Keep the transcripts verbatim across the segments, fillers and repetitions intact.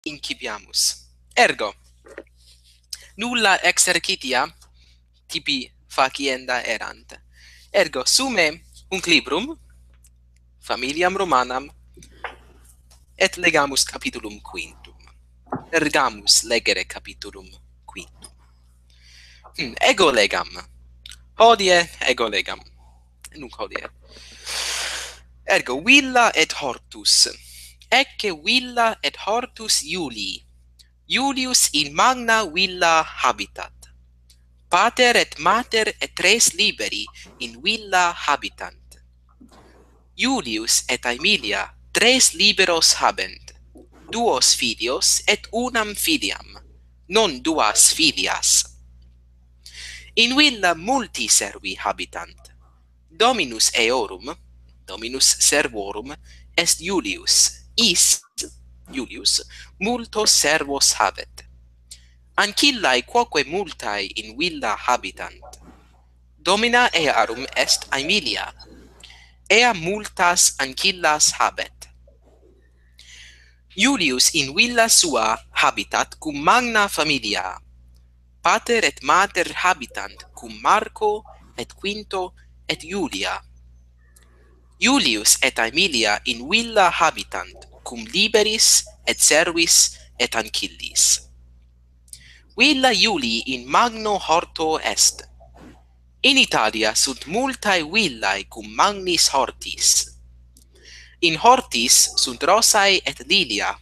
incipiamus. Ergo, nulla exercitia tibi facienda erant. Ergo, sume hunc librum, familiam Romanam, et legamus capitulum quintum. Ergamus legere capitulum quintum. Hmm, ego legam. Hodie ego legam. Nunc hodie. Ergo, villa et hortus. Ecce villa et hortus Iulii. Iulius in magna villa habitat. Pater et mater et tres liberi in villa habitant. Iulius et Aemilia tres liberos habent, duos filios et unam filiam, non duas filias. In villa multi servi habitant. Dominus eorum, dominus servorum, est Iulius, is, Iulius, multos servos habet. Ancillae quoque multae in villa habitant. Domina earum est Aemilia. Ea multas ancillas habet. Iulius in villa sua habitat cum magna familia. Pater et mater habitant cum Marco et Quinto et Iulia. Iulius et Aemilia in villa habitant cum liberis et servis et ancillis. Villa Iulii in magno horto est. In Italia sunt multae villae cum magnis hortis. In hortis sunt rosae et lilia.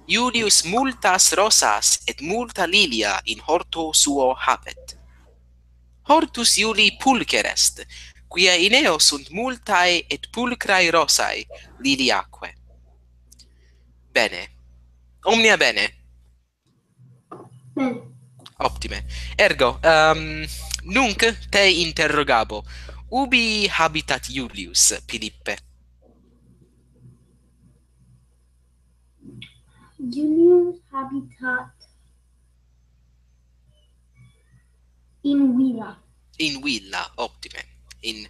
Iulius multas rosas et multa lilia in horto suo habet. Hortus Iulii pulcher est, quia in eo sunt multae et pulchrae rosae liliaque. Bene. Omnia bene. Bene. Optime. Ergo, ehm, nunc te interrogabo, ubi habitat Iulius, Philippe? Iulius habitat in villa. In villa, optime. In,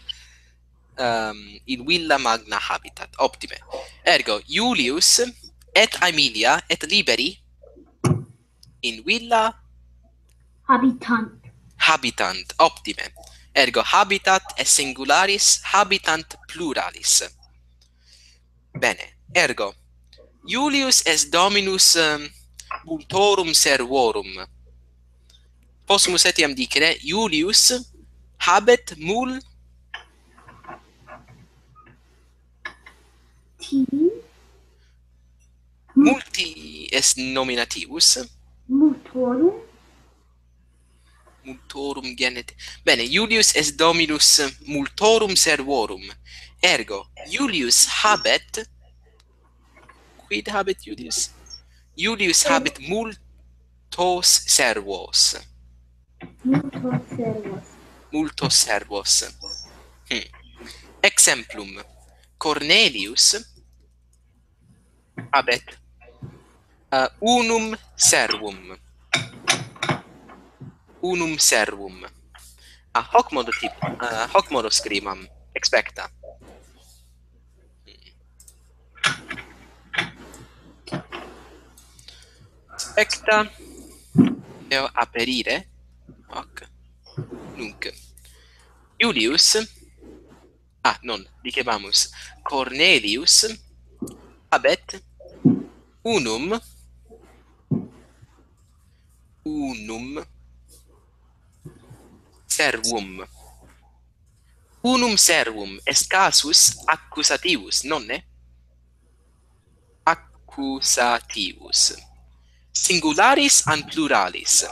ehm, in villa magna habitat, optime. Ergo, Iulius et Aemilia et liberi in villa habitant. Habitant, optime. Ergo, habitat est singularis, habitant pluralis. Bene, ergo, Iulius est dominus, ehm, multorum servorum. Possumus etiam dicere, Iulius habet mul- Ti? Multi est nominativus. Multorum. Multorum genet. Bene, Iulius est dominus multorum servorum. Ergo, Iulius habet. Quid habet Iulius? Iulius habet multos servos. Multos servos. Multos servos. Hmm. Exemplum. Cornelius habet, eh, unum servum. Unum servum. Ah, hoc modo tip-, eh, hoc modo scribam. Expecta. Expecta. Eo aperire. Hoc. Nunc. Iulius. Ah, non, dicebamus, Cornelius habet unum, unum servum. Unum servum est casus accusativus, nonne? Accusativus. Singularis an pluralis?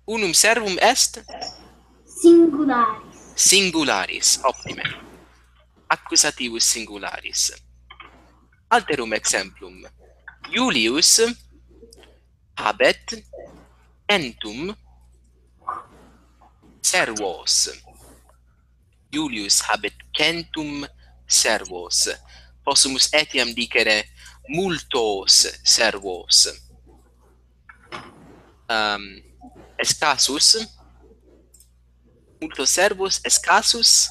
Unum servum est? Singularis. Singularis, optime. Accusativus singularis. Alterum exemplum. Iulius habet centum servos. Iulius habet centum servos. Possumus etiam dicere multos servos. Ehm, est casus? Multos servos est casus?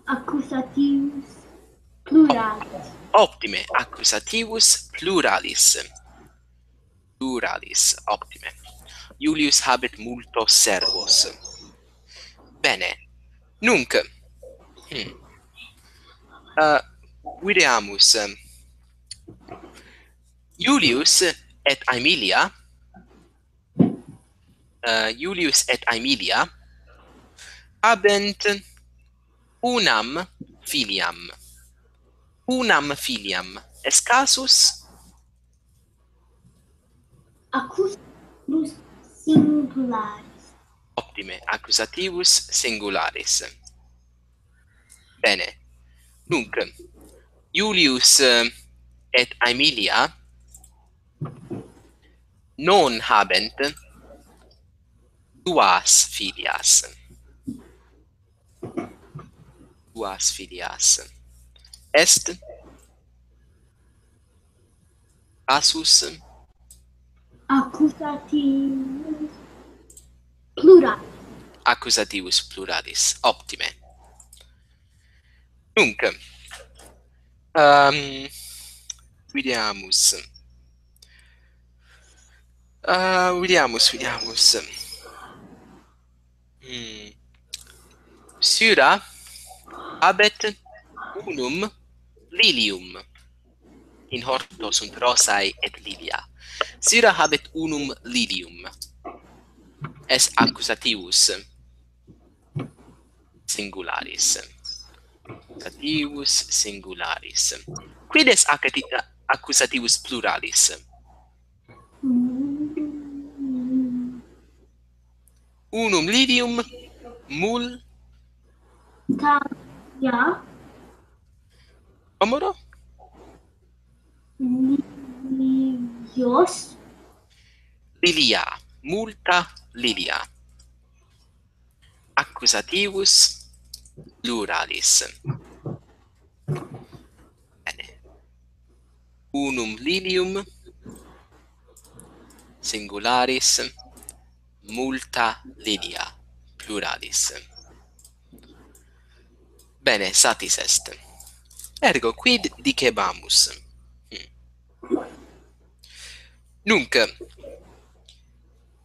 Accusativus Pluralis. Optime, accusativus pluralis. Pluralis, optime. Iulius habet multos servos. Bene. Nunc. Hmm. Uh, videamus. Iulius et Aemilia, uh, Iulius et Aemilia habent unam filiam. Unam filiam. Est casus? Accusativus singularis. Optime, accusativus singularis. Bene. Nunc, Iulius, eh, et Aemilia non habent duas filias. Duas filias. Est casus? Accusativus pluralis. Accusativus pluralis. Optime. Nunc, ehm, videamus. Uh, videamus, videamus. Hmm. Syra habet unum lilium. In horto sunt rosae et lilia. Syra habet unum lilium. Est accusativus singularis. Accusativus singularis. Quid est accati-, accusativus pluralis? Unum lilium mul- Talia. Omoro? Lilios. Lilia. Multa lilia. Accusativus pluralis. Bene. Unum lilium singularis, multa lilia pluralis. Bene, satis est. Ergo, quid dicebamus? Hmm. Nunc,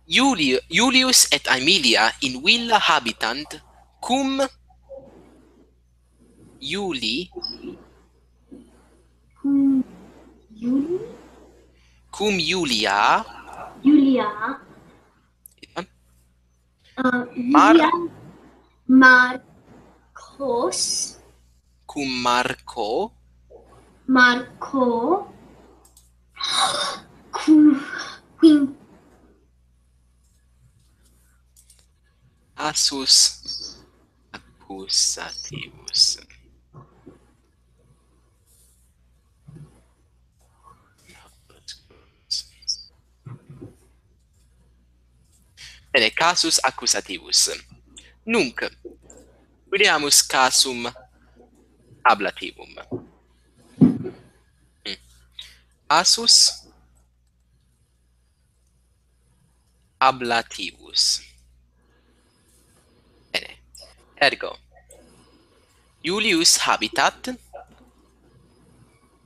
Iuli-, Iulius et Aemilia in villa habitant cum Iuli-, Cum Iuli-, cum Iulia, Iulia. Uh, Mar- Iulia Marcos. Cum Marco. Marco. Cum, quin- Casus accusativus. Bene, casus accusativus. Nunc, videamus casum ablativum. Mm. Casus ablativus. Bene. Ergo, Iulius habitat,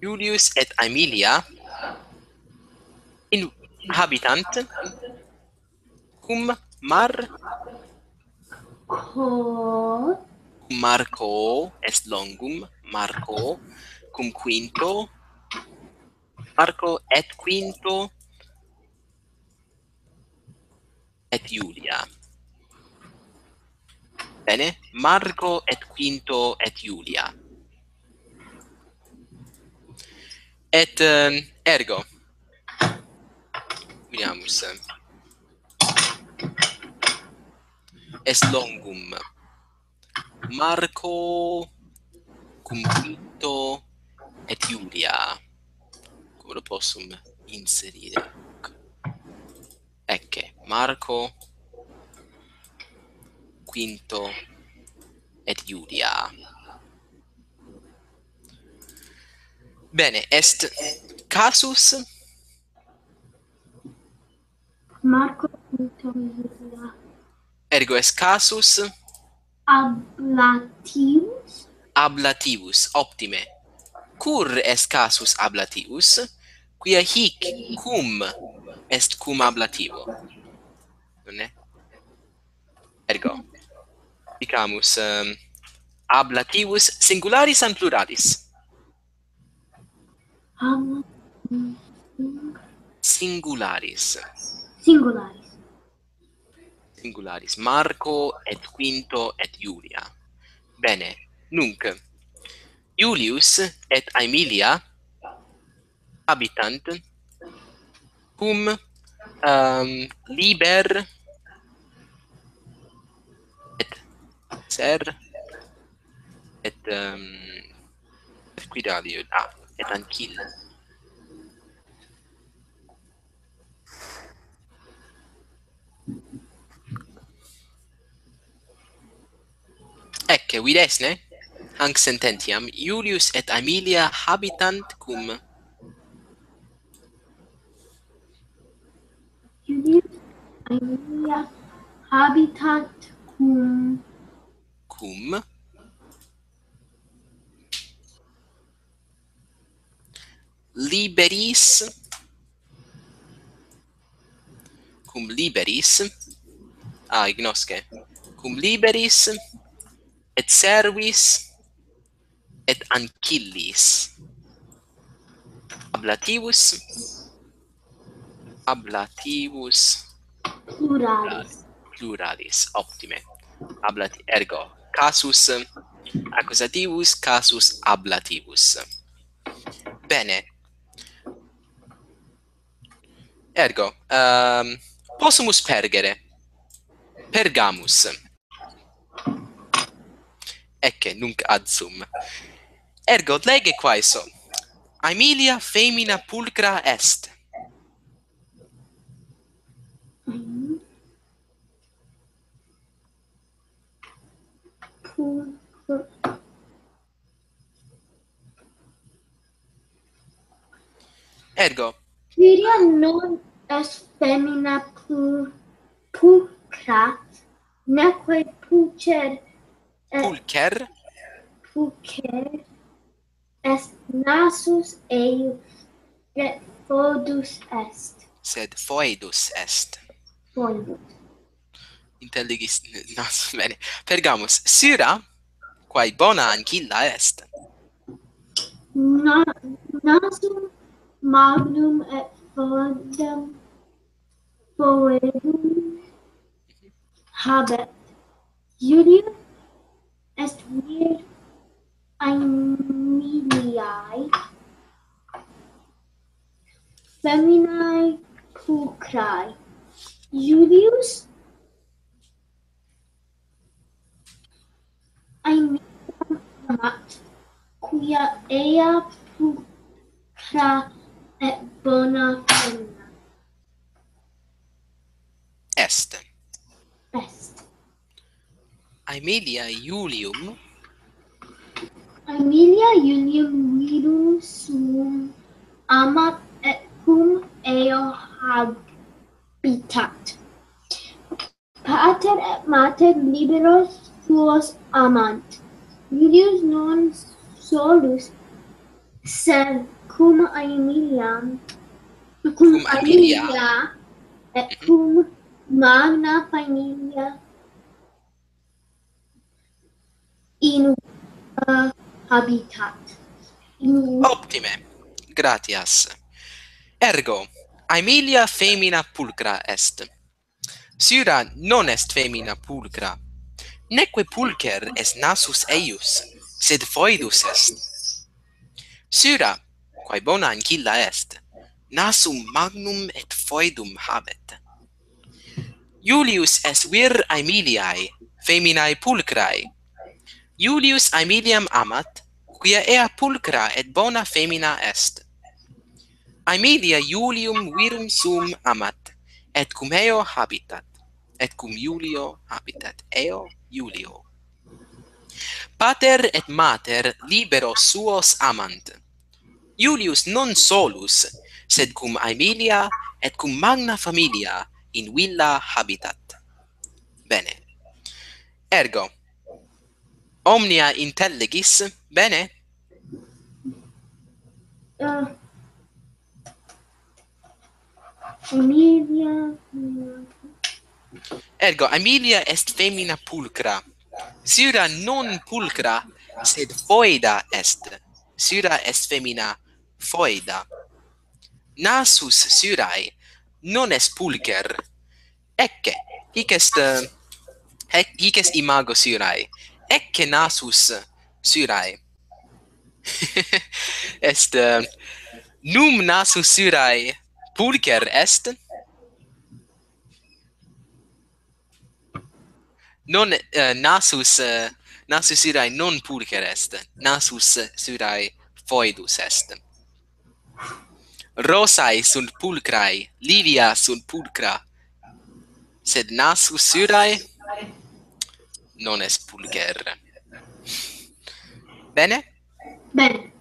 Iulius et Aemilia in habitant cum Mar-, Co. Marco est longum, Marco, cum Quinto, Marco et Quinto et Iulia. Bene, Marco et Quinto et Iulia. Et, ehm, ergo, videamus, est longum Marco cum Quinto et Iulia. Come lo possum inserire? Ecce, Marco, Quinto et Iulia. Bene, est casus Marco, Quinto, Iulia. Ergo est casus ablativus. Ablativus, optime. cur est casus ablativus, quia hic cum est cum ablativo. Nunc? Ergo, dicamus, ehm, ablativus singularis an pluralis? Am- Singularis. Singularis. Singularis. Marco et Quinto et Julia. Bene, nunc. Iulius et Aemilia habitant cum, ehm, Liber et Ser et, ehm, et quid aliud? Ah, et Ancilla. Ecce, videtis, ne? Hanc sententiam, Iulius et Aemilia habitant cum. Iulius et Aemilia habitant cum. Cum. Liberis, cum Liberis, ah, ignosce, cum Liberis et Servis et Ancillis. Ablativus, ablativus pluralis. Pluralis, optime. Ablati-, ergo, casus accusativus, casus ablativus. Bene. Ergo, ehm, possumus pergere. Pergamus. Ecce, nunc ad sum. Ergo, lege quaeso. Aemilia femina pulcra est. Ergo. Syria non est femina pu-, pulcra, neque pulcher, eh, pulcher? Pulcher est nasus eius, et foedus est. Sed foedus est. Foedus. Intelligis n-, nasus, bene. Pergamus, Syra, quae bona ancilla est. Na-, nasum magnum et foedum, foedum habet. Iulius est vir Aemiliae feminae pulchrae. Iulius Aemiliam amat, quia ea pulchra et bona femina est. Est. Aemilia Iulium. Aemilia Iulium virum suum amat et cum eo habitat. Pater et mater liberos suos amant. Iulius non solus, sed cum Aemiliam, cum Aemilia. Aemilia et cum magna familia in villa habitat. In vi- Optime. Gratias. Ergo, Aemilia femina pulcra est. Syra non est femina pulcra, neque pulcher est nasus eius, sed foedus est. Syra, quae bona ancilla est, nasum magnum et foedum habet. Iulius est vir Aemiliae, feminae pulchrae. Iulius Aemiliam amat, quia ea pulchra et bona femina est. Aemilia Iulium virum suum amat, et cum eo habitat, et cum Iulio habitat, eo Iulio. Pater et mater liberos suos amant. Iulius non solus, sed cum Aemilia et cum magna familia in villa habitat. Bene. Ergo, omnia intelligis, bene? Uh, Amelia. Ergo, Amelia est femina pulcra. Sira non pulcra, sed foeda est. Sira est femina foeda. Nasus Sirae non est pulcher. Ecce, hic est, eh, hic, hic est imago Sirae. Ecce nasus Sirae. Est, eh, num nasus Sirae pulcher est? Non, eh, nasus, eh, nasus Sirae non pulcher est, nasus Sirae foedus est. Rosae sunt pulcrae, lilia sunt pulcra, sed nasus Sirae non est pulcher. Bene? Bene.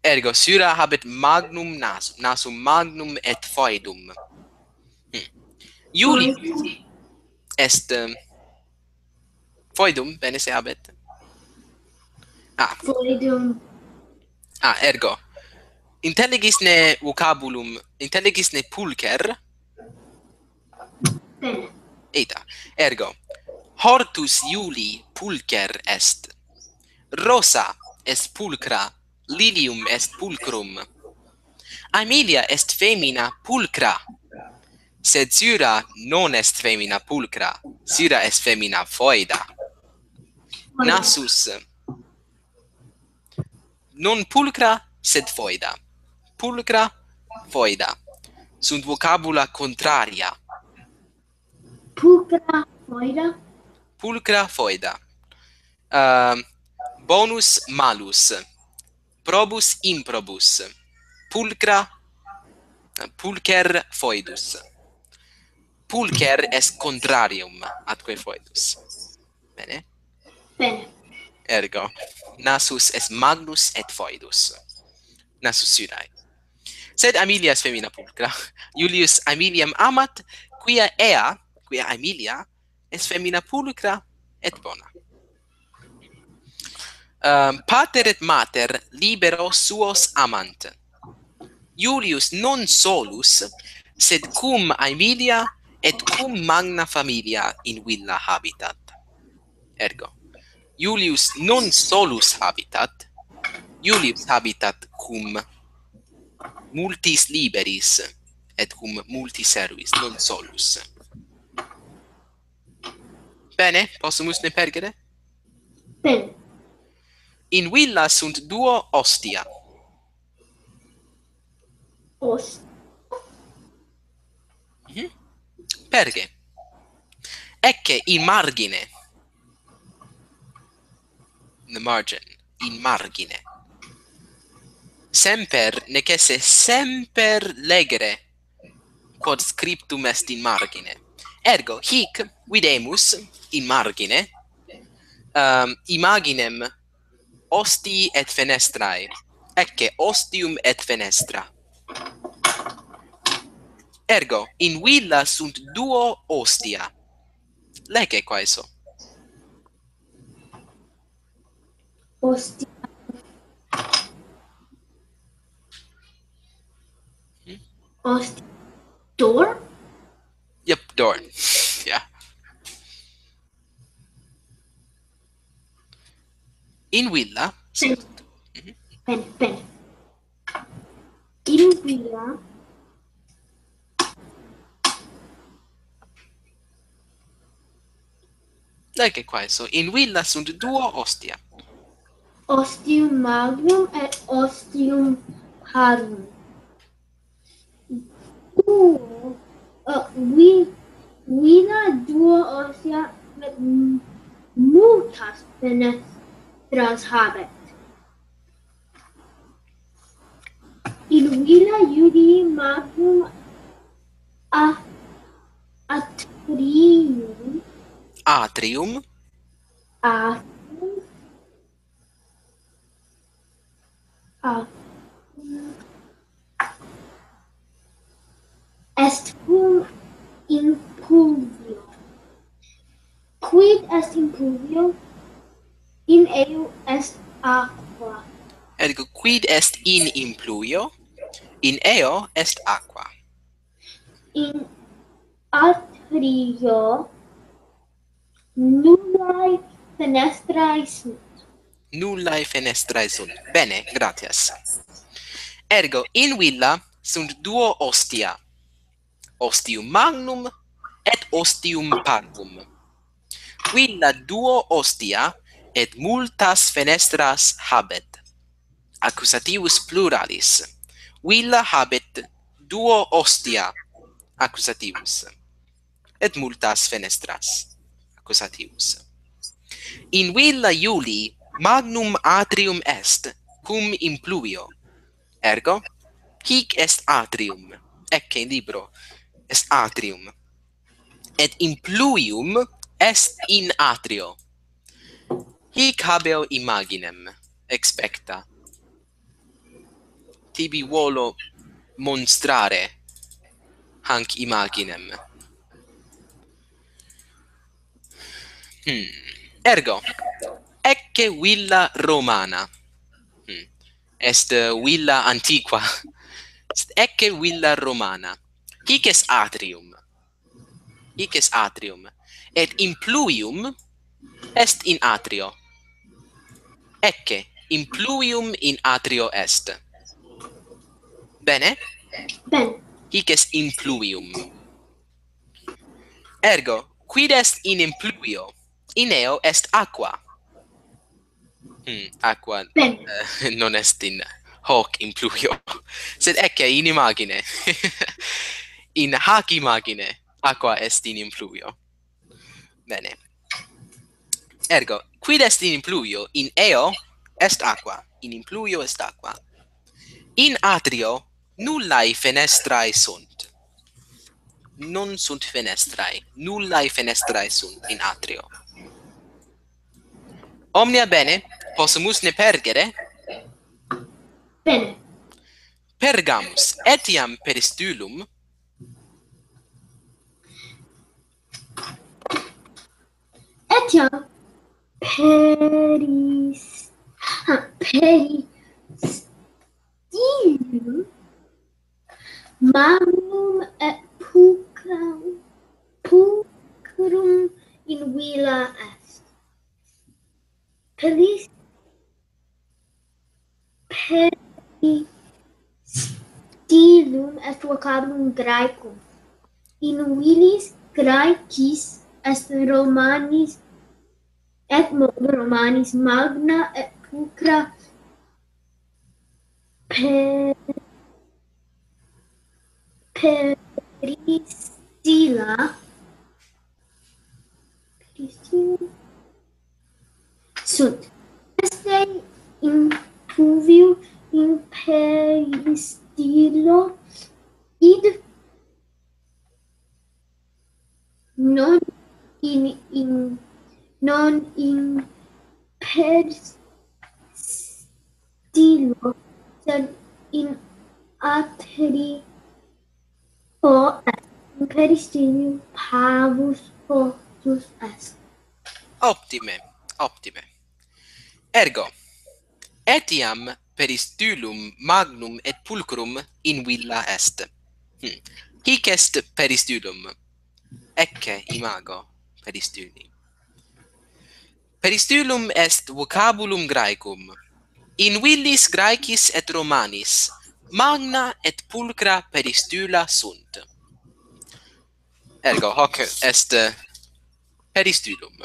Ergo, Sira habet magnum nasum, nasum magnum et foedum. Hmm. Iulius est, eh, foedum, bene se habet. Ah. Foedum. Ah, ergo. Intelligis ne vocabulum, intelligis ne pulcher. Bene. Ita. Ergo. Hortus Iulii pulcher est. Rosa est pulcra, lilium est pulcrum. Aemilia est femina pulcra, sed Sira non est femina pulcra, Sira est femina foeda. Nasus non pulcra, sed foeda. Pulcra, foeda. Sunt vocabula contraria. Pulcra, foeda? Pulcra, foeda. Ehm, bonus, malus. Probus, improbus. Pulcra, pulcher, foedus. Pulcher est contrarium atque foedus. Bene? Bene. Ergo, nasus est magnus et foedus. Nasus Sirae. Sed Aemilia est femina pulcra. Iulius Aemiliam amat, quia ea, quia Aemilia, est femina pulcra et bona. Ehm, pater et mater libero suos amant. Iulius non solus, sed cum Aemilia et cum magna familia in villa habitat. Ergo, Iulius non solus habitat, Iulius habitat cum multis liberis et cum multis servis, non solus. Bene, possumus ne pergere? Bene. In villa sunt duo ostia. Os- Mhm. Perge? Ecce in margine. In the margin. In margine. Semper, nec esse semper legere, quod scriptum est in margine. Ergo, hic videmus in margine, ehm, imaginem ostii et fenestrae. Ecce ostium et fenestra. Ergo, in villa sunt duo ostia. Lege quaeso. Ostia. Hmm? Ostia. Door? Yep, door. Yeah. In villa. Pen. Mhm. Pen, pen. In villa. Lege quaeso. In villa sunt duo ostia. Ostium magnum et ostium parum. Duo, uh, vi-, villa duo ostia et m-, multas fenestras habet. In villa Iulii magnum a-, atrium. Atrium. Atrium. Atrium. Est cum impluvium. Quid est impluvium? In eo est aqua. Ergo, quid est in impluio? In eo est aqua. In atrio nullae fenestrae sunt. Nullae fenestrae sunt. Bene, gratias. Ergo, in villa sunt duo ostia, ostium magnum et ostium parvum. Villa duo ostia et multas fenestras habet. Accusativus pluralis. Villa habet duo ostia. Accusativus. Et multas fenestras. Accusativus. In villa Iulii magnum atrium est, cum impluio. Ergo, hic est atrium. Ecce in libro est atrium. Et impluium est in atrio. Hic habeo imaginem, expecta. Tibi volo monstrare hanc imaginem. Hmm. Ergo, ecce villa Romana. Hmm. Est, eh, villa antiqua. Est ecce villa Romana. Hic est atrium. Hic est atrium. Et impluium est in atrio. Ecce, impluium in atrio est. Bene? Bene. Hic est impluium. Ergo, quid est in impluio? In eo est aqua. Hmm, aqua, Bene. Eh, non est in hoc impluio, sed ecce in imagine. In hac imagine aqua est in impluio. Bene. Ergo, quid est in impluio? In eo est aqua. In impluio est aqua. In atrio nullae fenestrae sunt. Non sunt fenestrae. Nullae fenestrae sunt in atrio. Omnia bene, possumus ne pergere? Bene. Pergamus, etiam peristulum? Etiam peris... ah, peristilum magnum et pulcrum, pulcrum in villa est. Peris... peristilum est vocabulum Graecum. In villis Graecis est Romanis et modo Romanis magna et pulchra per... peristilla, peristilla sunt. Esse in pluvium in peristillo, id non in, in non in peristillo, sed in atrio est, in peristillo parvus hortus est. Optime, optime. Ergo, etiam peristulum magnum et pulchrum in villa est. Hmm. Hic est peristulum. Ecce imago peristuli. Peristulum est vocabulum Graecum. In villis Graecis et Romanis magna et pulchra peristula sunt. Ergo, hoc est, eh, peristulum.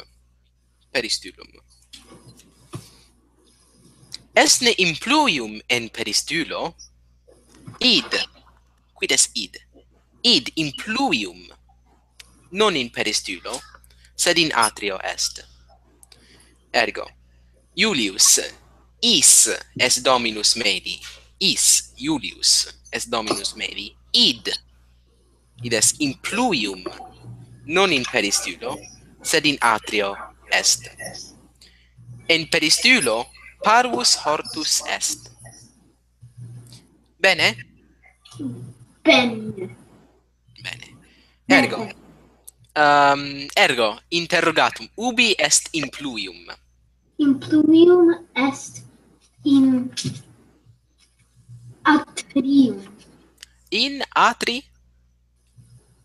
Peristulum. Est ne impluium in peristulo? Id. Quid est id? Id impluium, non in peristulo, sed in atrio est. Ergo, Iulius, is est dominus meli, is Iulius est dominus meli, id, id est impluium, non in peristulo, sed in atrio est. In peristulo parvus hortus est. Bene? Bene. Bene. Ergo. Um, ergo, interrogatum, ubi est impluium? Impluium est in Atrium. In atri?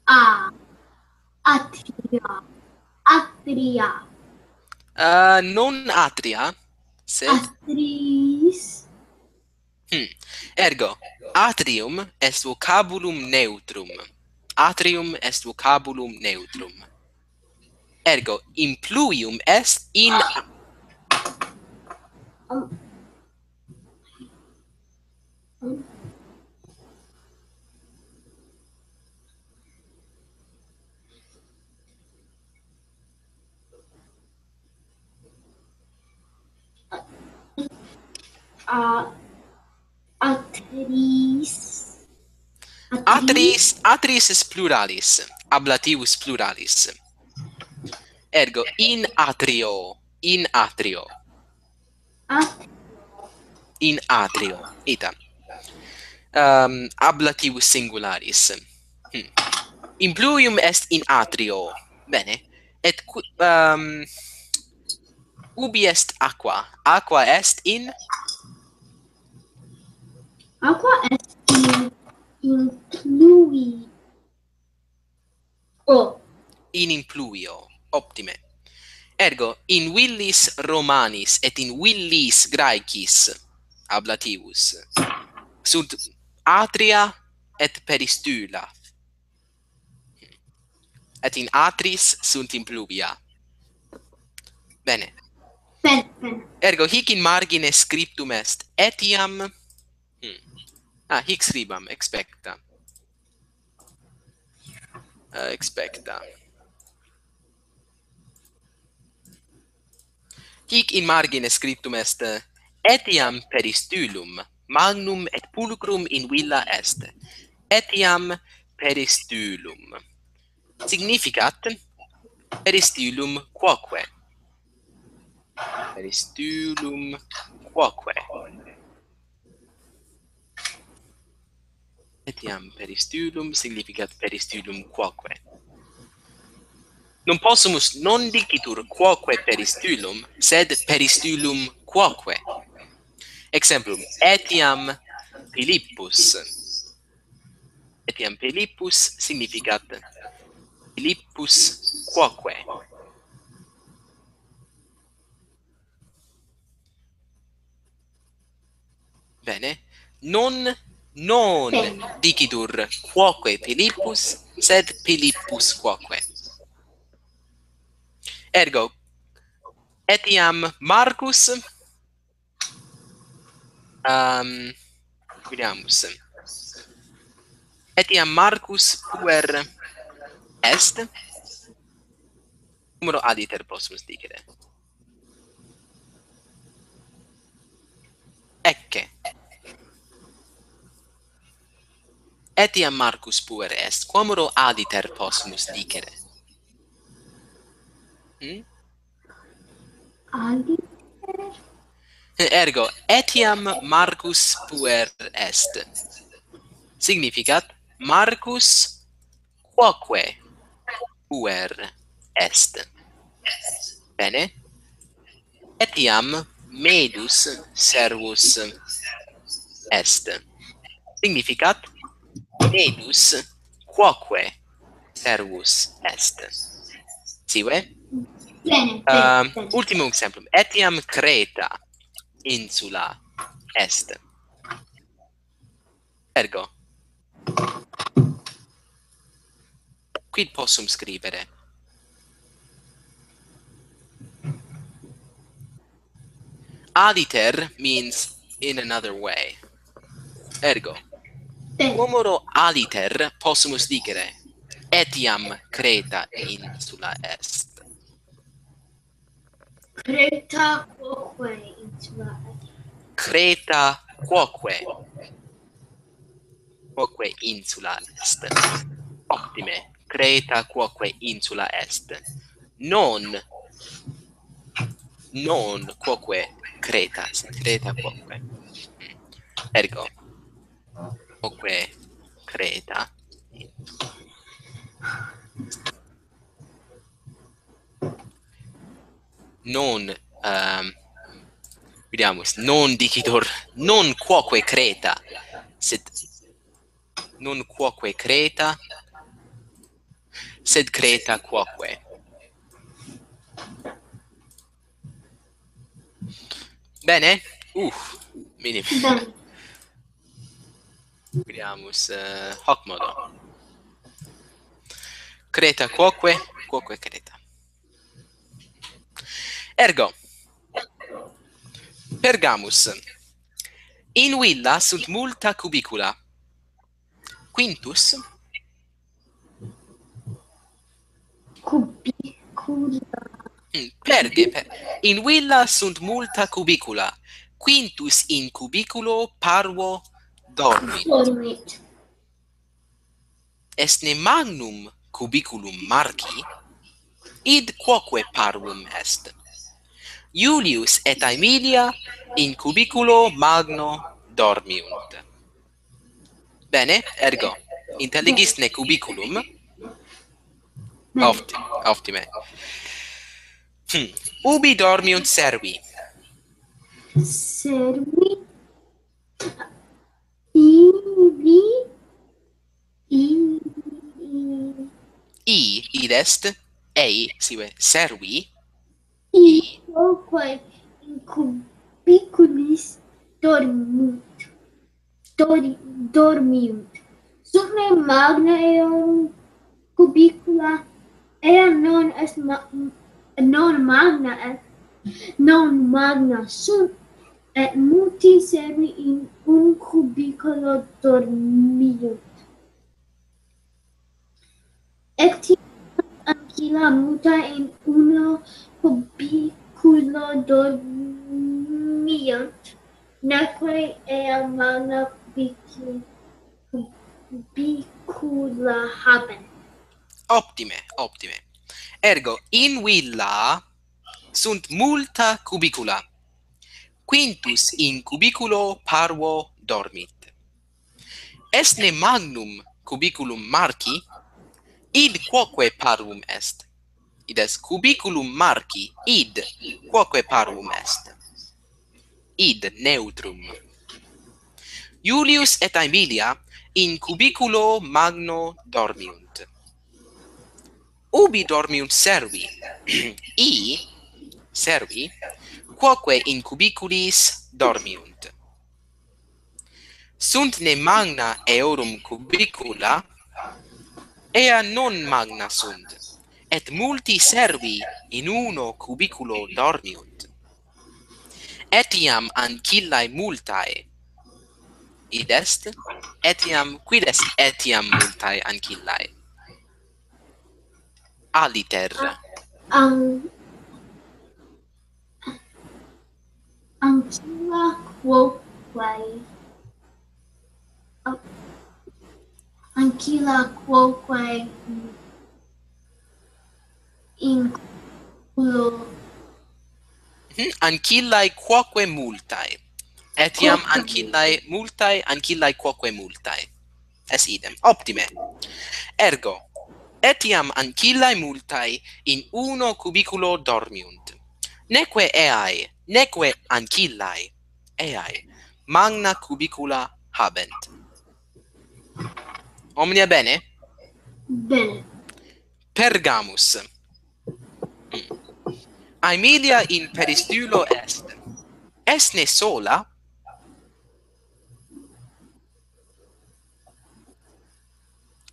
A. Atria. Atria. Uh, non atria, sed Atris. Hmm. Ergo, atrium est vocabulum neutrum. Atrium est vocabulum neutrum. Ergo, impluvium est in A, atris. Atris, atris est pluralis, ablativus pluralis. Ergo, in atrio, in atrio. A. In atrio, ita. Um, ablativus singularis. Hmm. Impluvium est in atrio. Bene. Et cu-, um, ubi est aqua? Aqua est in? Aqua est in, in plui. O. In impluvio. Optime. Ergo, in villis Romanis et in villis Graecis ablativus sunt atria et peristula. Et in atris sunt impluvia. Bene. Bene, bene. Ergo, hic in margine scriptum est etiam. Hmm. Ah, hic scribam, expecta. Eh, expecta. Hic in margine scriptum est, eh, etiam peristulum magnum et pulchrum in villa est. Etiam peristulum. Significat peristulum quoque. Peristulum quoque. Etiam peristulum significat peristulum quoque. Non possumus non dicitur quoque peristulum, sed peristulum quoque. Exemplum, etiam Philippus. Etiam Philippus significat Philippus quoque. Bene. Non, non Bene. Dicitur quoque Philippus, sed Philippus quoque. Ergo, etiam Marcus, um, vidimus. Etiam Marcus puer est. Quomodo aditer possumus dicere? Ecce. Etiam Marcus puer est. Quomodo aditer possumus dicere? Hmm? Aditer? Ergo, etiam Marcus puer est. Significat, Marcus quoque puer est. Bene. Etiam Medus servus est. Significat, Medus quoque servus est. Sive? Bene, bene, Ehm, bene. Ultimum exemplum. Etiam Creta insula est. Ergo. Quid possum scribere? Aditer means in another way. Ergo, Bene. Quomodo aditer possumus dicere, etiam Creta insula est. Creta quoque insula est. Creta quoque. Quoque insula est. Optime. Creta quoque insula est. Non. Non quoque Creta. Creta quoque. Ergo. Quoque Creta. Non, ehm, vidimus, non dicitur, non quoque Creta, sed nun quoque Creta, sed Creta quoque. Bene? Uh, minim. Bene. Vediamus, eh, hoc modo. Creta quoque, quoque Creta. Ergo, Pergamus. In villa sunt multa cubicula. Quintus? Cubicula. Mm, perge, per-, in villa sunt multa cubicula. Quintus in cubiculo parvo dormit. Dormit. Est ne magnum cubiculum Marci, id quoque parvum est. Iulius et Aemilia in cubiculo magno dormiunt. Bene, ergo, intelligis ne cubiculum? Bene. Opti-, optime. Hmm. Ubi dormiunt servi? Servi? Ibi, i, i. I, id est, ei, sive, servi. I, quoque in cubiculis dormunt. Dor-, dormiunt. Sunt ne magna eorum cubicula, ea non est ma-, non magna est, non magna sunt, et multi servi in un cubiculo dormiunt. Etiam ancilla multa in uno cubiculo dormiunt, neque ea magna cubicu-, cubicula habent. Optime, optime. Ergo, in villa sunt multa cubicula. Quintus in cubiculo parvo dormit. Est ne magnum cubiculum Marci? Id quoque parvum est. Id est cubiculum Marci, id quoque parvum est. Id neutrum. Iulius et Aemilia in cubiculo magno dormiunt. Ubi dormiunt servi? I, servi, quoque in cubiculis dormiunt. Sunt ne magna eorum cubicula? Ea non magna sunt, et multi servi in uno cubiculo dormiunt. Etiam ancillae multae. Id est? Etiam, quid est etiam multae ancillae? Aliter. An-, ancilla quoque. An-, ancilla quoque in culo. Mhm, ancillae quoque multae. Etiam quoque. Ancillae multae, ancillae quoque multae. Est idem. Optime. Ergo, etiam ancillae multae in uno cubiculo dormiunt. Neque eae, neque ancillae, eae, magna cubicula habent. Omnia bene? Bene. Pergamus. Aemilia in peristylo est. Est ne sola?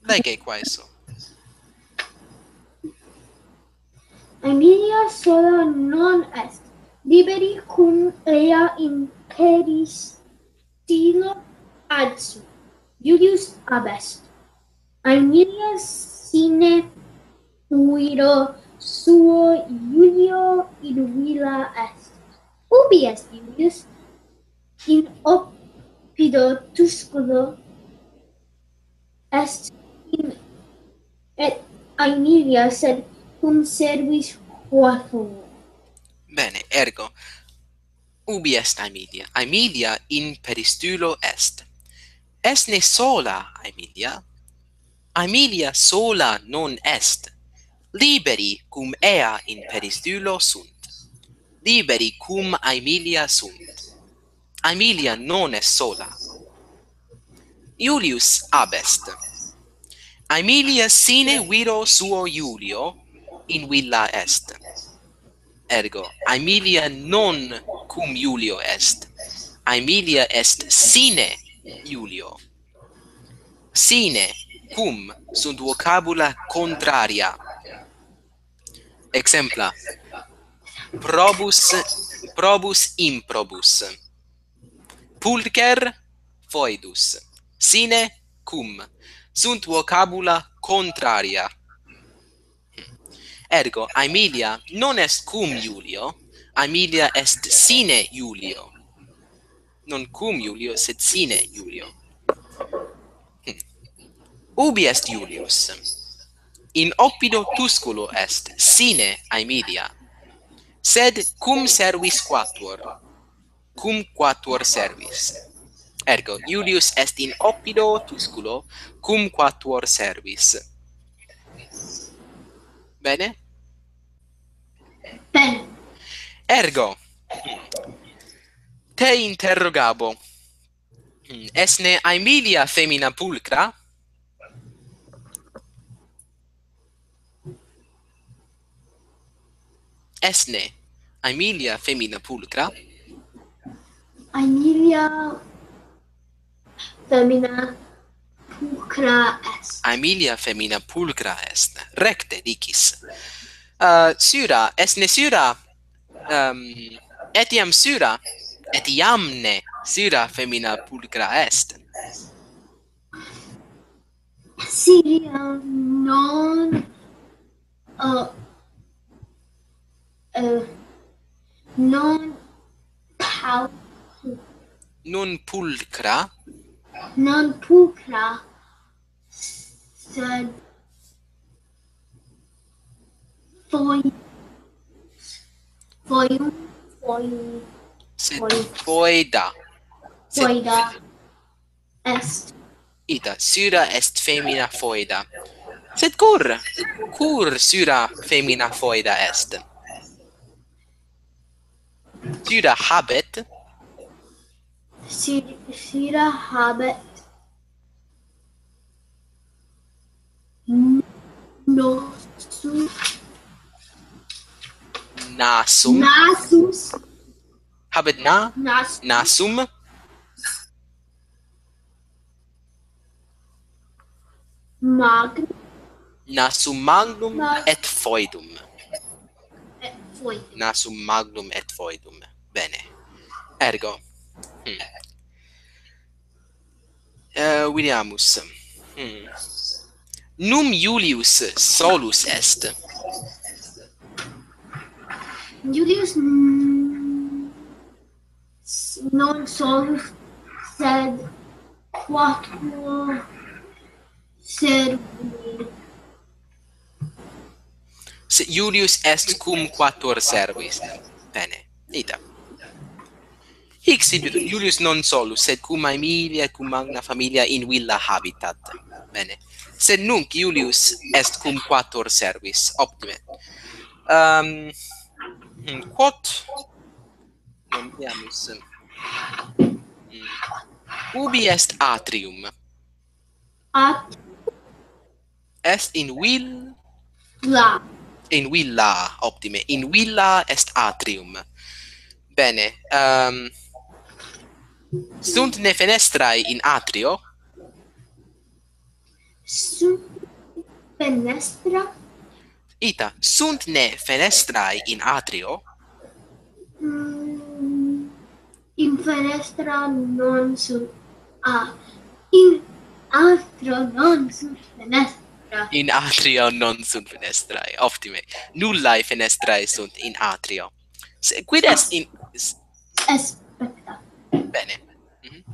Lege quaeso. Aemilia sola non est. Liberi cum ea in peristylo adsunt. Iulius ab est. Aemilia sine viro suo Iulio in villa est. Ubi est Iulius? In oppido tusculo est in, et Aemilia, sed cum servis quatuor. Bene, ergo, ubi est Aemilia? Aemilia in peristylo est. Est ne sola Aemilia? Aemilia sola non est. Liberi cum ea in peristylo sunt. Liberi cum Aemilia sunt. Aemilia non est sola. Julius ab est. Aemilia sine viro suo Julio in villa est. Ergo, Aemilia non cum Julio est. Aemilia est sine Julio. Sine, cum sunt vocabula contraria. Exempla: probus, probus improbus. Pulcher foedus. Sine cum sunt vocabula contraria. Ergo, Aemilia non est cum Julio, Aemilia est sine Julio. Non cum Julio, sed sine Julio. Hm. Ubi est Julius? In oppido Tusculo est, sine Aemilia. Sed cum servis quatuor? Cum quatuor servis. Ergo, Julius est in oppido Tusculo cum quatuor servis. Bene? Bene. Ergo, te interrogabo. Est ne Aemilia femina pulcra? Est ne Aemilia femina pulcra? Aemilia femina pulcra est. Aemilia femina pulcra est. Recte dicis. Uh, sura, est ne sura, um, etiam sura, etiam ne sura femina pulcra est. Siriam non, uh, uh, non pau-, non pulcra. Non pulcra, sed foi-, foedum, foi-, sed foi-, foeda. Sed foeda. Est. Ita, sura est femina foeda. Sed cur, cur sura femina foeda est? Sura habet. Si-, sura habet n-, nosu-, nasum. Nasus. Habet na-, nas-, nasum. Mag-, nasum magnum mag-, et foedum. Et foedum. Nasum magnum et foedum. Bene. Ergo. Hmm. Eh, videamus. Hmm. Num Julius solus est. Julius, mm, s-, non solus, sed quatuor servi. Se Julius est cum quatuor servis. Bene, ita. Hic sit, Julius non solus, sed cum Aemilia et cum magna familia in villa habitat. Bene. Sed nunc Julius est cum quatuor servis. Optime. Um, hmm, quod Non veamus. Mm. Ubi est atrium? At- Est in vil-, la. In villa, optime. In villa est atrium. Bene. Ehm, sunt ne fenestrae in atrio? Sunt fenestra? Ita, sunt ne fenestrae in atrio? Mm, in fenestra non sunt, ah, in atrio non sunt fenestra. In atrio non sunt fenestrae, optime. Nullae fenestrae sunt in atrio. Se, quid est in, s- Aspetta. Bene. Mhm.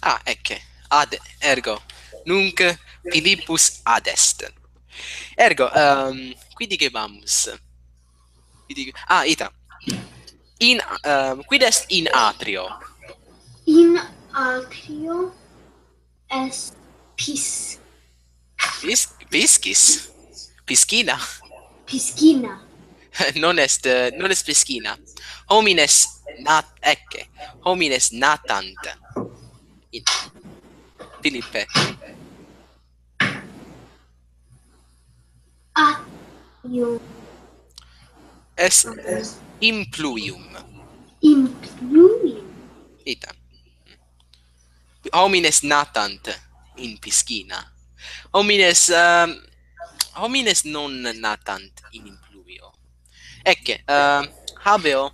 Ah, ecce. Ad, ergo, nunc Philippus ad est. Ergo, ehm, qui dicebamus? Qui dice-, ah, ita. In, ehm, quid est in atrio? In atrio est pis. Pis-, piscis? Piscina? Piscina. Non est, eh, non est piscina. Homines nat-, ecce. Homines natant. In-, Philippe. Atrio. Est impluvium. Impluvium. Ita. Homines natant in piscina. Homines, ehm, homines non natant in impluvio. Ecce, ehm, habeo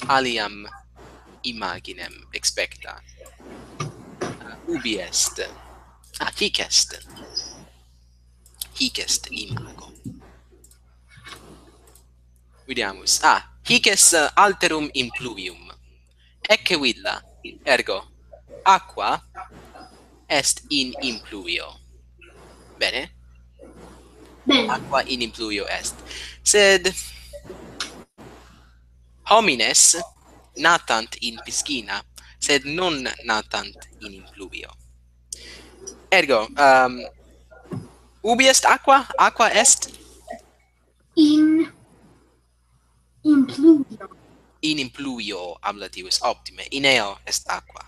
aliam imaginem expecta. Ubi est? Ah, hic est. Hic est imago. Vidiamus. Ah, hic est, eh, alterum impluvium. Ecce villa, ergo, aqua est in impluvio. Bene? Bene. Aqua in impluvio est. Sed homines natant in piscina, sed non natant in impluvio. Ergo, ehm, ubi est aqua? Aqua est In impluvio. In impluvio ablativus, optime. In eo est aqua.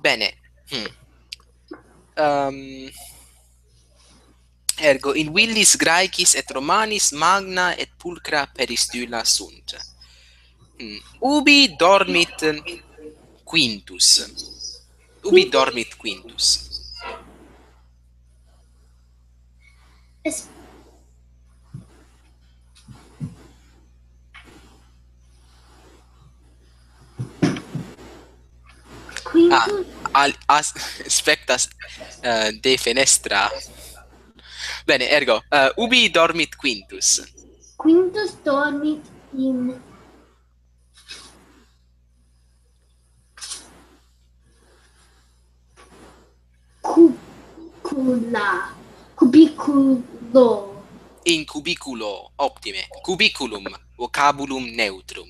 Bene. Hmm. Ehm, ergo, in villis Graecis et Romanis magna et pulchra peristula sunt. Hmm. Ubi dormit Quintus? Ubi dormit Quintus? Es- Ah, al, as, spectas, eh, de fenestra. Bene, ergo, eh, ubi dormit Quintus? Quintus dormit in cubicula, cubiculo. In cubiculo, optime. Cubiculum, vocabulum neutrum.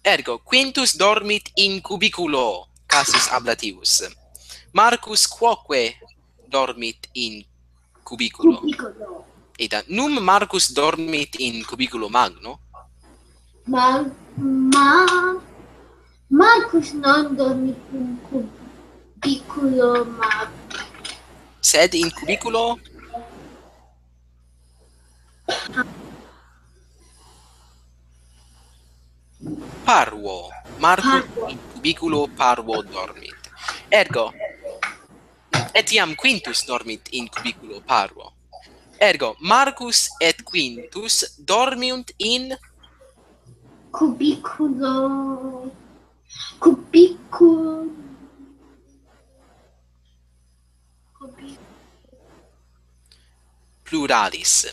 Ergo, Quintus dormit in cubiculo, casus ablativus. Marcus quoque dormit in cubiculo. Cubiculo. Ita, num Marcus dormit in cubiculo magno? Ma, ma, Marcus non dormit in cubiculo magno. Sed in cubiculo? Parvo. Marcus in cubiculo parvo dormit. Ergo, etiam Quintus dormit in cubiculo parvo. Ergo, Marcus et Quintus dormiunt in cubiculo. Cubiculo. Cubi- pluralis.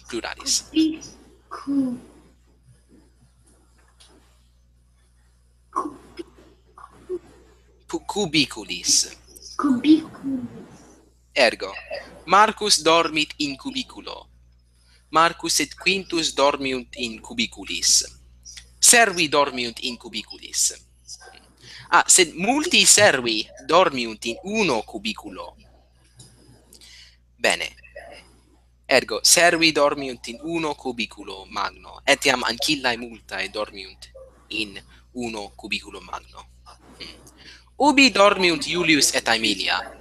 Pluralis. Cubicu- Pu- cubiculis. Cubiculis. Ergo, Marcus dormit in cubiculo. Marcus et Quintus dormiunt in cubiculis. Servi dormiunt in cubiculis. Ah, sed multi servi dormiunt in uno cubiculo. Bene. Ergo, servi dormiunt in uno cubiculo magno, etiam ancillae multae dormiunt in uno cubiculo magno. Hmm. Ubi dormiunt Iulius et Aemilia?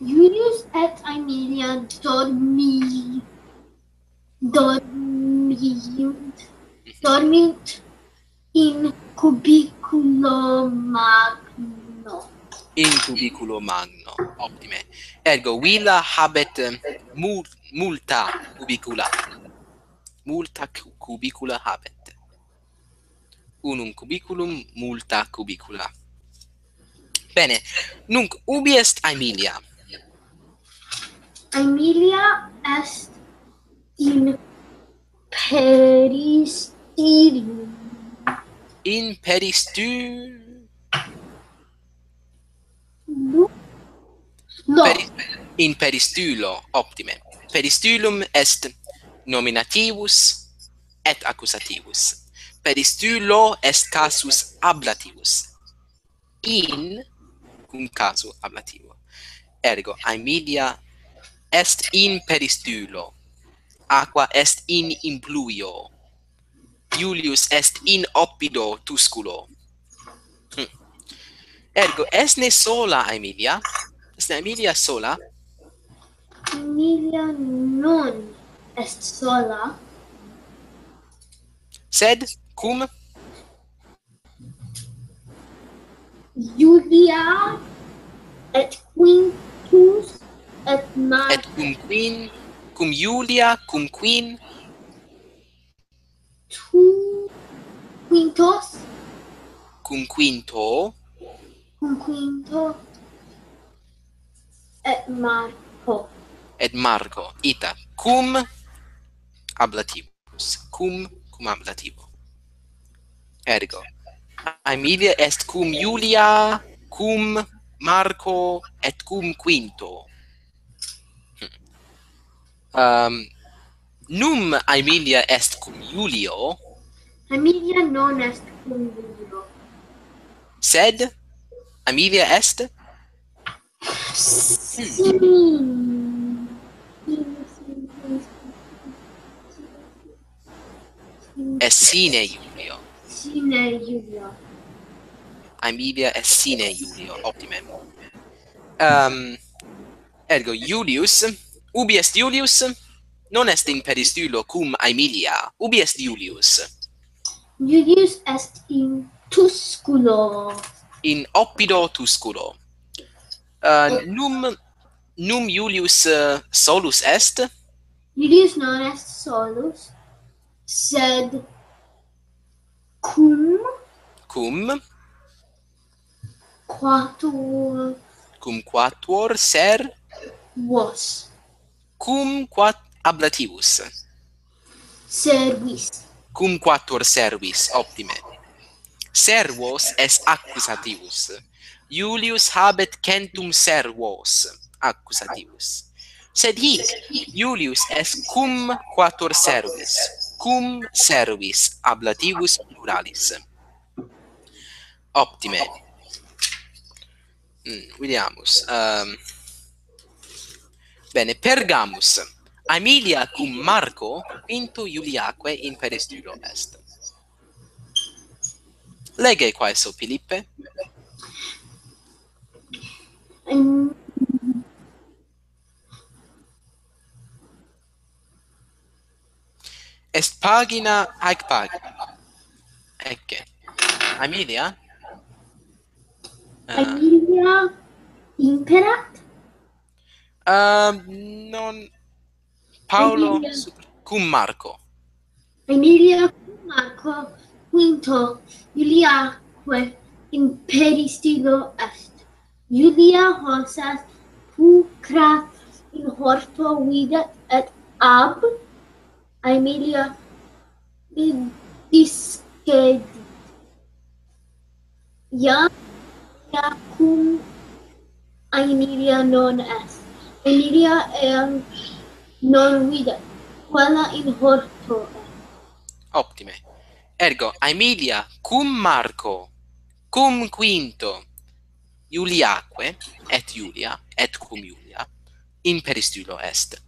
Iulius et Aemilia dormi, dormiunt, dormiunt in cubiculo magno. In cubiculo magno, optime. Ergo, villa habet, eh, mu-, multa cubicula. Multa cu-, cubicula habet. Unum cubiculum, multa cubicula. Bene, nunc ubi est Aemilia? Aemilia est in peristylium. In peristu-, No. Peri-, in peristulo, optime. Peristulum est nominativus et accusativus. Peristulo est casus ablativus. In cum casu ablativo. Ergo, Aemilia est in peristulo. Aqua est in impluio. Iulius est in oppido tusculo. Hm. Ergo, est ne sola Aemilia? Est ne Aemilia sola? Aemilia non est sola. Sed cum? Iulia et Quintus et Mar- Et cum quin-, cum Iulia, cum quin? Tu Quintus. Cum Quinto. Cum Quinto et Marco. Et Marco. Ita. Cum ablativus. Cum, cum ablativo. Ergo. Aemilia est cum Iulia, cum Marco et cum Quinto. Hm. Ehm, num Aemilia est cum Iulio. Aemilia non est cum Iulio. Sed Aemilia est? Sin. Est sine Iulio. Sine Iulio. Aemilia est sine Iulio. Optime. Ehm, Ergo Iulius, ubi est Iulius? Non est in peristulo cum Aemilia. Ubi est Iulius? Iulius est in Tusculo. In oppido Tusculo. Eh, num, num Iulius, eh, solus est? Iulius non est solus, sed cum Cum? Quatuor. Cum quatuor ser? Vos. Cum quat-, ablativus. Servis. Cum quatuor servis, optime. Servos est accusativus. Iulius habet centum servos, accusativus. Sed hic, Iulius est cum quatuor servis, cum servis ablativus pluralis. Optime. Mm, vidiamus. Ehm, bene, Pergamus. Aemilia cum Marco Quinto Iuliaque in peristulo est. Lege quaeso, Philippe. Ehm, Est pagina, haec pagina. Ecce. Aemilia? Eh. Aemilia imperat? Ehm, non, Paolo Aemilia. Su-, cum Marco. Aemilia cum Marco Quinto Iuliaque in peristulo est. Iulia hoc est pulchra in horto videt et ab Aemilia discedit. Iam, iam cum Aemilia non est. Aemilia eam non videt, puella in horto est. Optime. Ergo, Aemilia cum Marco, cum Quinto, Iuliaque, et Iulia, et cum Iulia, in peristulo est.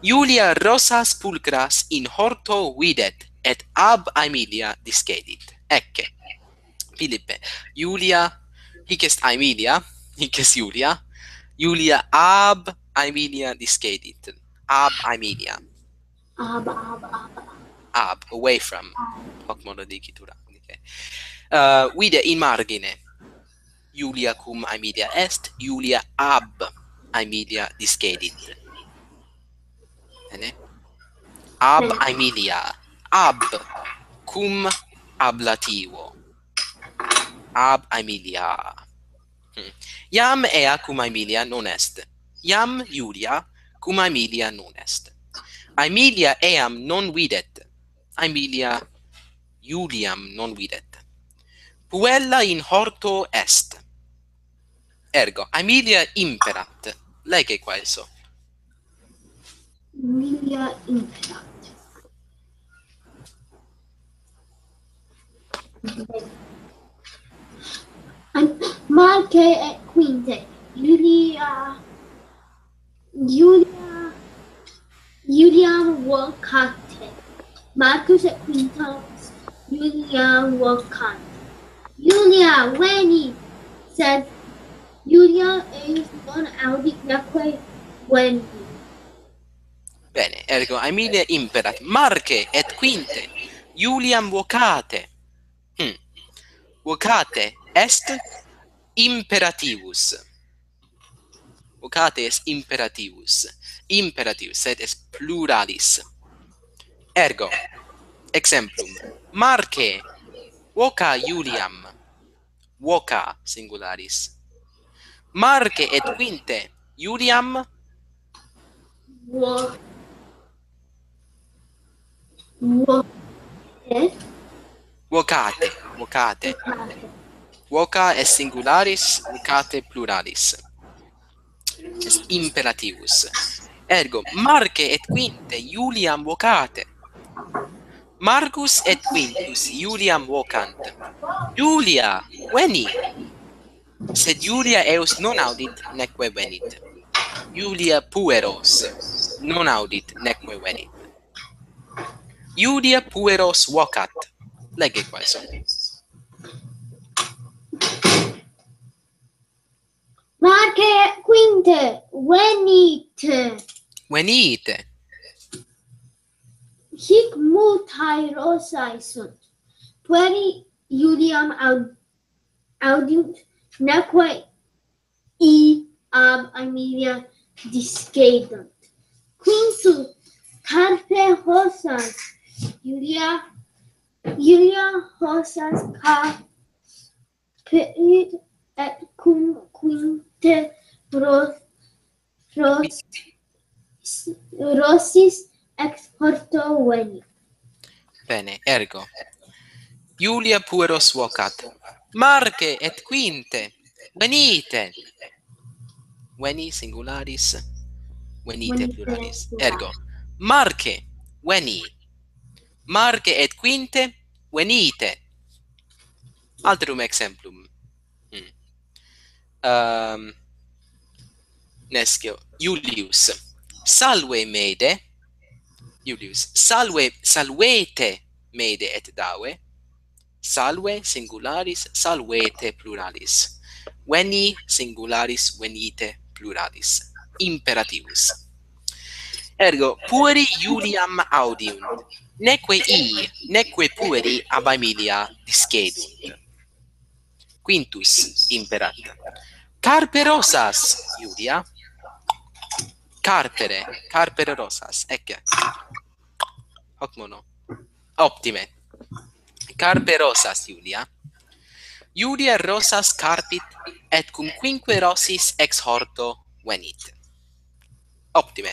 Iulia rosas pulchras in horto videt, et ab Aemilia discedit. Ecce. Philippe, Iulia, hic est Aemilia, hic est Iulia, Iulia ab Aemilia discedit. Ab Aemilia. Ab, ab, ab, ab. Ab, away from. Ab. Hoc modo dicitur, okay. Uh, vide in margine. Iulia cum Aemilia est, Iulia ab Aemilia discedit. Bene? Ab Aemilia, ab cum ablativo. Ab Aemilia. Hmm. Iam ea cum Aemilia non est. Iam Iulia cum Aemilia non est. Aemilia eam non videt. Aemilia Iuliam non videt. Puella in horto est. Ergo, Aemilia imperat. Lege quaeso. Aemilia imperat. An- Marke et Quinte. Iulia, Iulia, Iuliam vocate. Marcus et Quintus Iuliam vocant. Iulia, veni, sed Iulia eius non audit neque veni. Bene, ergo Aemilia imperat. Marke et Quinte Iuliam vocate. Hmm. Vocate est imperativus. Vocate est imperativus. Imperativus, sed est pluralis. Ergo, exemplum, Marke voca Iuliam. Voca singularis. Marke et Quinte Iuliam Vo- Voce. vocate, vocate. Voca est singularis, vocate pluralis. Est imperativus. Ergo, Marke et Quinte Iuliam vocate. Marcus et Quintus Iuliam vocant. Iulia, veni. Sed Iulia eius non audit neque venit. Iulia pueros non audit neque venit. Iulia pueros vocat. Lege quaeso. Marke et Quinte, venite. Venite. Hic multae rosae sunt. Pueri Iuliam aud- audiunt neque i ab Aemilia discedunt. Quintus carpe rosas Iulia, Iulia rosas carpit et cum Quinte ro- ros- rosis ex horto venit. Bene, ergo. Iulia pueros vocat. Marke et Quinte, venite. Veni singularis, venite Venite pluralis. pluralis. Ergo, Marke, veni. Marke et Quinte, venite. Alterum exemplum. Hmm. Ehm, nescio, Iulius. Salve Mede. Iulius. Salve, salvete Mede et Dave. Salve singularis, salvete pluralis. Veni singularis, venite pluralis. Imperativus. Ergo, pueri Iuliam audiunt. Neque i, neque pueri ab Aemilia discedunt. Quintus imperat. Carpe rosas, Iulia. Carpere, carpere rosas. Ecce. Hoc mono. Optime. Carpe rosas, Iulia. Iulia rosas carpit et cum quinque rosis ex horto venit. Optime.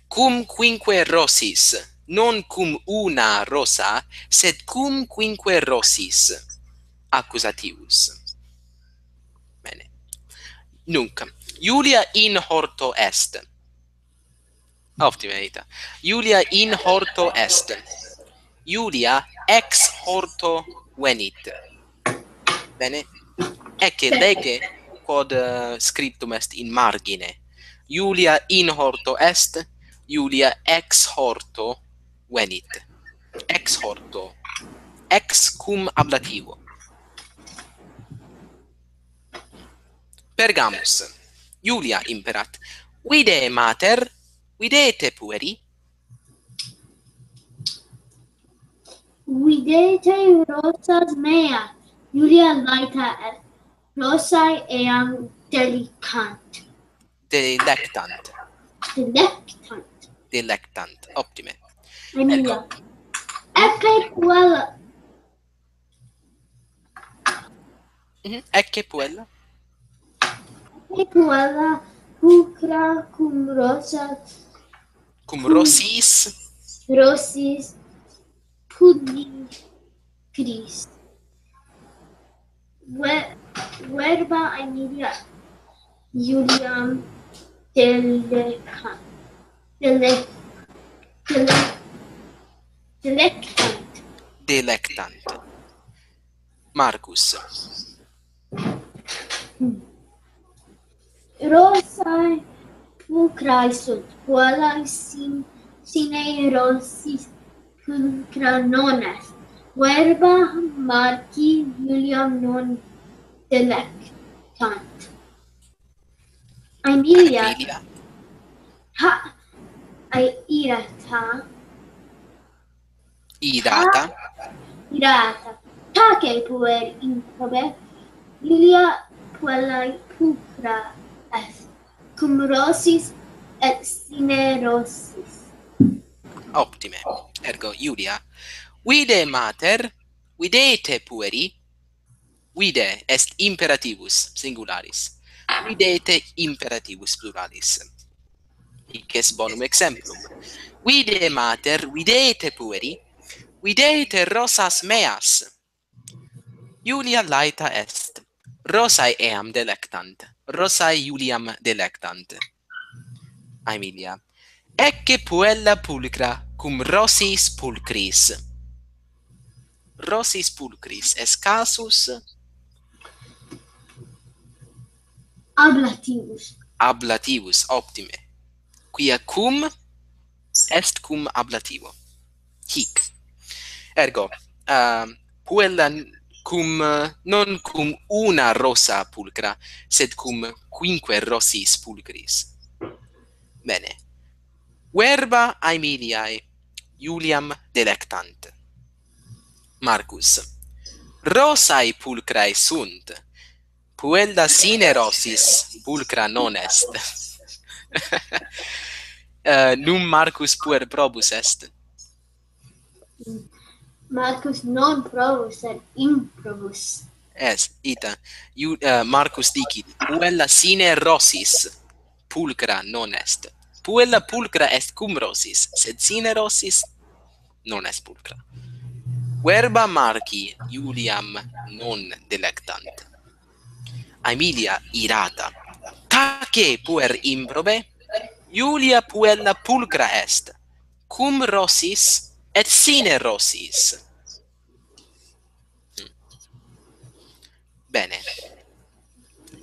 Cum quinque rosis, non cum una rosa, sed cum quinque rosis. Accusativus. Bene. Nunc. Iulia in horto est. Optime, ita. Iulia in horto est. Iulia ex horto venit. Bene. Ecce, lege quod, eh, scriptum est in margine. Iulia in horto est, Iulia ex horto venit. Ex horto. Ex cum ablativo. Pergamus. Iulia imperat. Vide mater, videte pueri. Videte rosas meas, Iulia laeta est, rosae eam delectant. Delectant. Delectant. Delectant. Optime. Aemilia. Ecce puella. Mhm. Ecce puella. Ecce puella pulchra cum rosa. Cum rosis. Rosis pulchris. Ve- verba Aemilia Iuliam delectant. Dele-, dele-, delectant. Delectant. Marcus. Rosae pulchrae sunt, puellae sin-, sine rosis pulchra non est. Verba Marci Iuliam non delectant. Aemilia. Aemilia. Ha, ai irata. Irata. Irata. Tace puer improbe, Iulia puellae pulchra est, cum rosis et sine rosis. Optime. Ergo Iulia. Vide mater, videte pueri. Vide est imperativus singularis. Videte imperativus pluralis. Hic est bonum exemplum. Vide mater, videte pueri, videte rosas meas. Iulia laeta est. Rosae eam delectant. Rosae Iuliam delectant. Aemilia. Ecce puella pulchra cum rosis pulchris. Rosis pulchris est casus Ablativus. Ablativus, optime. Quia cum est cum ablativo. Hic. Ergo, uh, puella n-, cum, uh, non cum una rosa pulchra, sed cum quinque rosis pulchris. Bene. Verba Aemiliae Iuliam delectant. Marcus. Rosae pulchrae sunt. Puella sine rosis pulchra non est. Uh, num Marcus puer probus est. Marcus non probus, sed improbus. Est, ita. Iu, uh, Marcus dicit, puella sine rosis pulchra non est. Puella pulchra est cum rosis, sed sine rosis non est pulchra. Verba Marci Iuliam non delectant. Aemilia irata. Tace puer improbe, Iulia puella pulchra est, cum rosis et sine rosis. Hmm. Bene.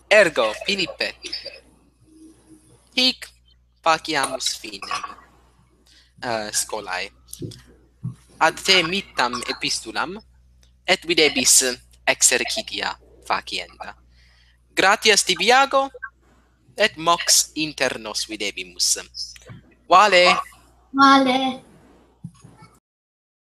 Ergo, Philippe, hic faciamus finem uh, scholae. Ad te mittam epistulam, et videbis exercitia facienda. Gratias tibi, Iago, et mox inter nos videbimus. Vale. Vale.